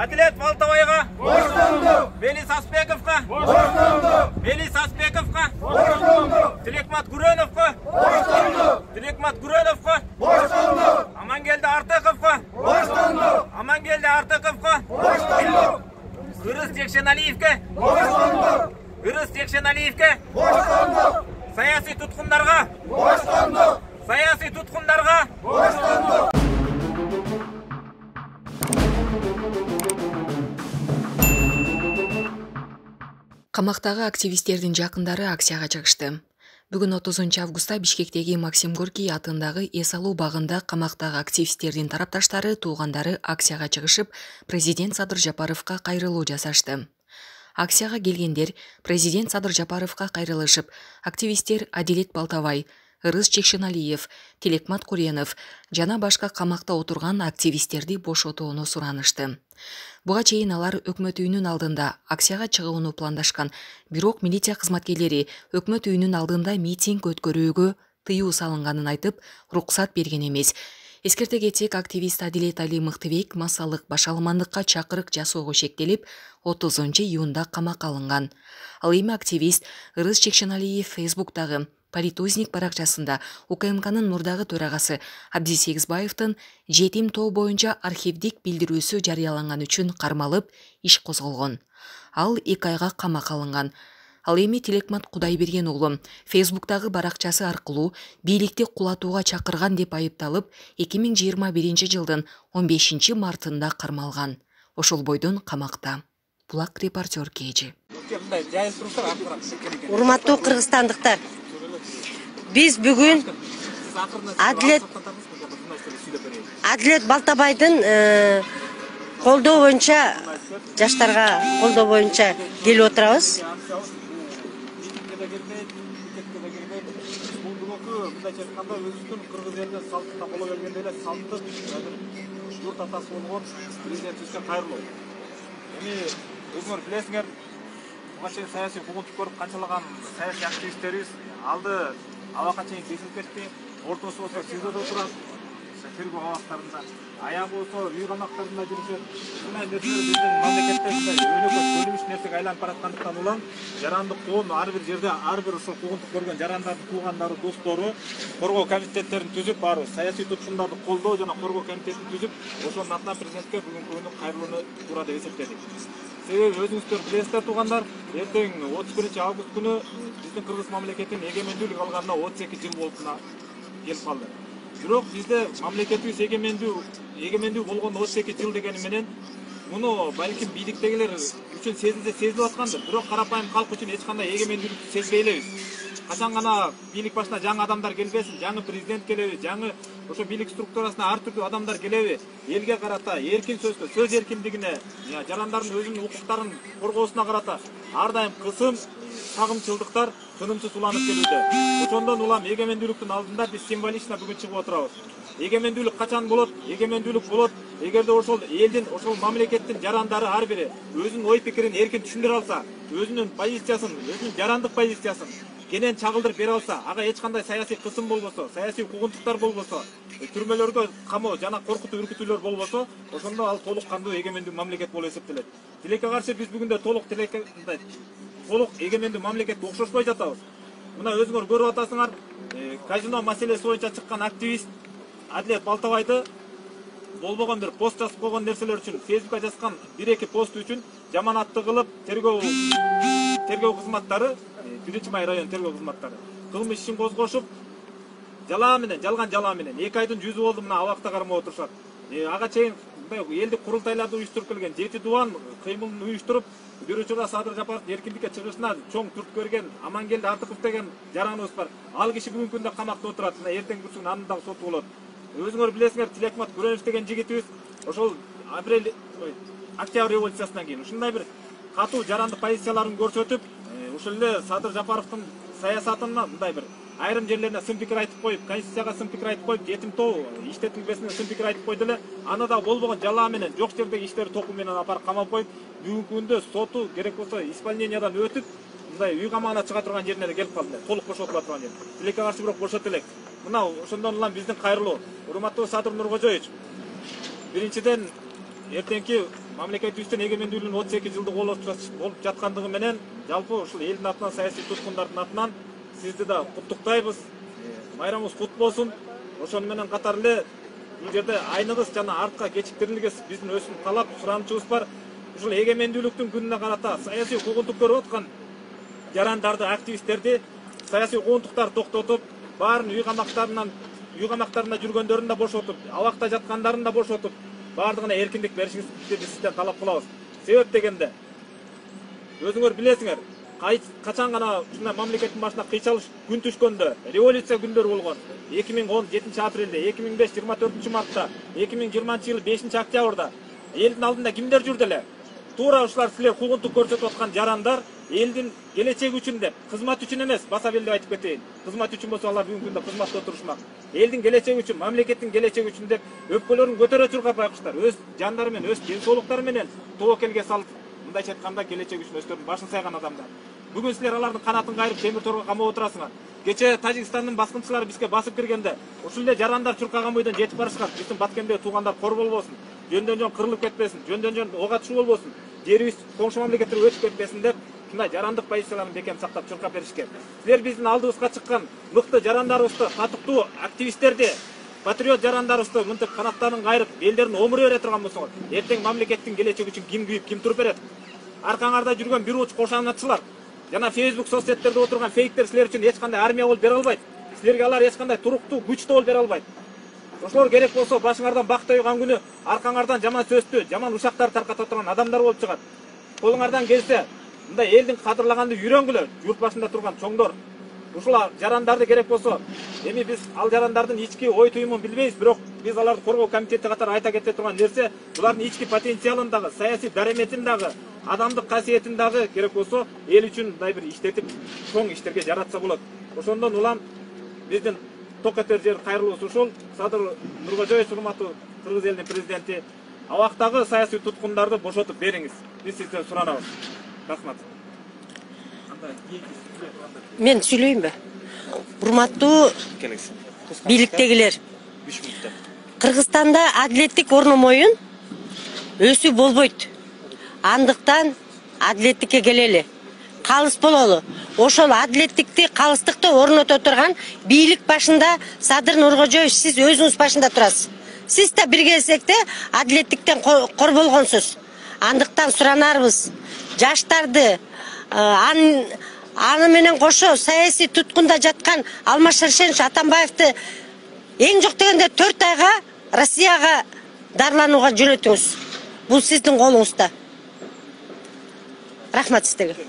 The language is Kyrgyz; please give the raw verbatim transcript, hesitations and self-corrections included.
Адилет Балтабайга боштондук. Велис Аспековго боштондук. Велис Аспековго боштондук. Тилекмат Гүрөновго боштондук. Тилекмат Гүрөновго боштондук. Амангелди Артыковго боштондук. Амангелди Артыковго боштондук. Ырыс Жекшеналиевге боштондук. Ырыс Жекшеналиевге боштондук. Саясий туткундарга боштондук. Саясий туткундарга боштондук. Камактагы активисттердин жакындары акцияга чыгышты. Бүгүн отузунчу августта Бишкектеги Максим Горький атындагы эс алуу багында камактагы активисттердин тарапташтары, туугандары акцияга чыгышып, президент Садыр Жапаровго кайрылуу жасашты. Акцияга келгендер президент Садыр Жапаровго кайрылышып, активисттер Адилет Балтабай, Ырыс Жекшеналиев, Тилекмат Куренов жана башка камакта отурган активисттерди бошотууну суранышты. Буга чейин алар өкмөт үйүнүн алдында акцияга чыгууну пландашкан, бирок милиция кызматкерлери өкмөт үйүнүн алдында митинг өткөрүүгө тыюу салынганын айтып, уруксат берген эмес. Эскерте кетсек, активист Адилет Али Мыктыбек массалык башаламандыкка чакырык жасоого шектелип, отузунчу июнда камакка алынган. Ал эми активист Ырыс Жекшеналиев Фейсбуктагы Политузник баракчасында У К М К'нын мурдагы төрагасы Абдис Сегизбаевдин жетим тоо боюнча архивдик билдирүүсү жарыяланган үчүн кармалып, иш козголгон. Ал эки айга камакка алынган. Ал эми Тилекмат Кудайберген уулу Фейсбуктагы баракчасы аркылуу бийликти кулатууга чакырган деп айыпталып, эки миң жыйырма биринчи жылдын он бешинчи мартында кармалган. Ошол бойдон камакта. Булак репортер Кежи. Урматтуу кыргызстандыктар, биз бүгүн Адилет Адилет Балтабайдын колдоо боюнча, жаштарга колдоо боюнча келип отурабыз. Өзүңөр билесиңер, буга чейин саясий куугунтук көрүп канчалаган саясий активисттерибиз алды абакка чейин кесилип кетти. Ортосу болсо СИЗОдо турат, тергөө абактарында. Аягы болсо үй камактарында жүрүшөт. Ушундай нерселер биздин мамлекетте өнөкөт бөлүнүш нерсеге айланып бараткандыктан улам жарандык коом ар бир жерде ар бир ушул куугунтук көргөн жарандардын туугандары, достору коргоо комитеттерин түзүп, баары саясий туткундарды колдоо жана коргоо комитетин түзүп, ошонун атынан президентке бүгүнкү күнү кайрылууну туура деп эсептедик. Себеби өзүңүздөр билесиздер туугандар, эртең отуз биринчи август күнү биздин кыргыз мамлекетинин эгемендүүлүк алганына отуз эки жыл болушуна келип калды. Бирок бизде мамлекетибиз эгемендүү эгемендүү болгон отуз эки жыл дегени менен муну балким бийликтегилер үчүн сезилсе сезилип аткандыр. Бирок карапайым калк үчүн эч кандай эгемендүүлүктү сезбей элебиз. Качан гана бийлик башына жаңы адамдар келбесин, жаңы президент келеби, жаңы ошо бийлик структурасына ар түрдүү адамдар келеби, элге карата эркин сөзгө, сөз эркиндигине, жарандардын өзүнүн укуктарын коргоосуна карата ар дайым кысым, сагымчылдыктар тынымсыз уланып келүүдө. Ошондон улам эгемендүүлүктүн алдында биз символично бүгүн чыгып отурабыз. Эгемендүүлүк качан болот? Эгемендүүлүк болот эгерде ошол элдин, ошол мамлекеттин жарандары ар бири өзүнүн ой пикирин эркин түшүндүрө алса, өзүнүн позициясын, өзүнүн жарандык позициясын кенен чагылдырып бере алса, ага эч кандай саясий кысым болбосо, саясий куугунтуктар болбосо, түрмөлөргө камоо жана коркутуу үркүтүүлөр болбосо, ошондо ал толук кандуу эгемендүү мамлекет болуп эсептелет. Тилекке каршы биз бүгүндө толук тилекке толук эгемендүү мамлекетке окшошпой жатабыз. Мына өзүңөр көрүп атасыңар, казино маселеси боюнча чыккан активист Адилет Балтабайды болбогон бир пост жазып койгон нерселер үчүн, Фейсбукка жазган бир эки пост үчүн жаманатты кылып, тергөө тергөө кызматтары, биринчи май район тергөө кызматтары кылмыш ишин козгошуп, жалаа менен, жалган жалаа менен эки айдын жүзү болду мына абакта кармап отурушат. Ага чейин мындай элдик курултайларды уюштуруп келген жети дубан кыймылын уюштуруп, бир учурда Садыр Жапаровдун эркиндикке чыгышына чоң түрткү берген Амангелди Артыков деген жараныбыз бар. Ал киши бүгүнкү күндө камакта отурат. Мына эртең күрсүн анын дагы соту болот. Өзүңөр билесиңер, Тилекмат Куренов деген жигитибиз ошол апрель октябрь революциясынан кийин ушундай бир катуу жарандык позицияларын көрсөтүп, ушул эле Садыр Жапаровдун саясатына мындай бир айрым жерлерине сын пикир айтып коюп, конституцияга сын пикир айтып коюп, жетим тоо иштетилбесине сын пикир айтып койду эле. Аны да болбогон жалаа менен, жок жердеги иштери току менен апарып камап коюп, бүгүнкү күндө соту керек болсо исполнениядан өтүп, мындай үй камагына чыга турган жерине келип калды. Толук бошотула турган жер. Тилекке каршы бирок бошот элек. Мына ошондон улам биздин кайрылуу. Урматтуу Садыр Нуркожоевич, биринчиден эртеңки мамлекетибиздин эгемендүүлүгүнүн отуз эки жылдык болуп жаткандыгы менен жалпы ушул элдин атынан, саясий туткундардын атынан сизди да куттуктайбыз. Майрамыңыз кут болсун. Ошону менен катар эле бул жерде айныгыз жана артка кечиктирилгес биздин өсүм талап, суранычыбыз бар. Ушул эгемендүүлүктүн күнүнө карата саясий куугунтук көрүп аткан жарандарды, активисттерди саясий куугунтуктар токтотуп, баарын үй камактарынан үй камактарында жүргөндөрүн да бошотуп, абакта жаткандарын да бошотуп, баардыгына эркиндик беришиңизди биз сизден талап кылабыз. Себеп дегенде өзүңөр билесиңер, качан гана ушундай мамлекеттин башына кыйчалыш күн түшкөндө, революция күндөрү болгон. эки миң он жетинчи апрелде, эки миң беш жыйырма төртүнчү мартта, эки миң жыйырманчы жылы бешинчи октябрда элдин алдында кимдер жүрдү эле? Туура ушулар силер куугунтук көрсөтүп аткан жарандар элдин келечеги үчүн деп, кызмат үчүн эмес, баса белдеп айтып кетейин. Кызмат үчүн болсо алар бүгүнкү күндө кызматта отурушмак. Элдин келечеги үчүн, мамлекеттин келечеги үчүн деп өпкөлөрүн көтөрө чуркап байкуштар. Өз жандары менен, өз ден соолуктары менен тобокелге салып, мындайча айтканда келечеги үчүн өздөрүнүн башын сайган адамдар. Бүгүн силер алардын канатын кайрып темир торго камап отурасыңар. Кече Тажикстандын баскынчылары бизге басып киргенде ушул эле жарандар чуркаган бойдон жетип барышкан. Биздин Баткендеги туугандар кор болбосун, жөндөн жөн кырылып кетпесин, жөндөн жөн ок атышуу болбосун, жерибиз коңшу мамлекеттерге өтүп кетпесин деп ушундай жарандык позицияларын бекем сактап чуркап беришкен. Силер биздин алдыбызга чыккан мыкты жарандарыбызды, татыктуу активисттерди, патриот жарандарыбызды мынтип канаттарын кайрып, элдерин омуруй бере турган болсоңор, эртең мамлекеттин келечеги үчүн ким күйүп, ким туруп берет? Аркаңарда жүргөн бир уч кошаначылар жана Facebook соцсеттерде отурган фейктер силер үчүн эч кандай армия болуп бере албайт. Силерге алар эч кандай туруктуу күч болуп бере албайт. Ошолор керек болсо башыңардан бак тойгон күнү аркаңардан жаман сөздү, жаман ушактар тарката турган адамдар болуп чыгат. Колуңардан келсе, мындай элдин кадырлаганды үйрөнгүлө, журт башында турган чоңдор. Ушул жарандарды керек болсо, эми биз ал жарандардын ички ой туюмун билбейбиз, бирок биз аларды коргоо комитети катары айта кете турган нерсе, булардын ички потенциалын дагы, саясий дареметин дагы, адамдык касиетин дагы керек болсо эл үчүн мындай бир иштетип, чоң иштерге жаратса болот. Ошондон улам биздин ток этер жер кайрылуусу ушул. Садыр Нуркожоевич, урматтуу Кыргыз элинин президенти, абактагы саясий туткундарды бошотуп бериңиз. Биз сизден суранабыз. Рахмат. Мен сүйлөйүнбү? Урматтуу бийликтегилер. Кыргызстанда адилеттик орномоюн өсүү болбойт. Андыктан адилеттикке келели. Калыс бололу. Ошол адилеттикти, калыстыкты орното турган бийлик башында Садыр Нуркожоевич, сиз өзүңүз башында турасыз. Сиз да бир кезекте адилеттиктен кор болгонсуз. Андыктан суранарбыз, жаштарды аны аны менен кошо саясий туткунда жаткан Алмаз Шаршенович Атамбаевди эң жок дегенде төрт айга Россияга дарыланууга жөнөтүңүз. Бул сиздин колуңузда. Рахмат сиздерге.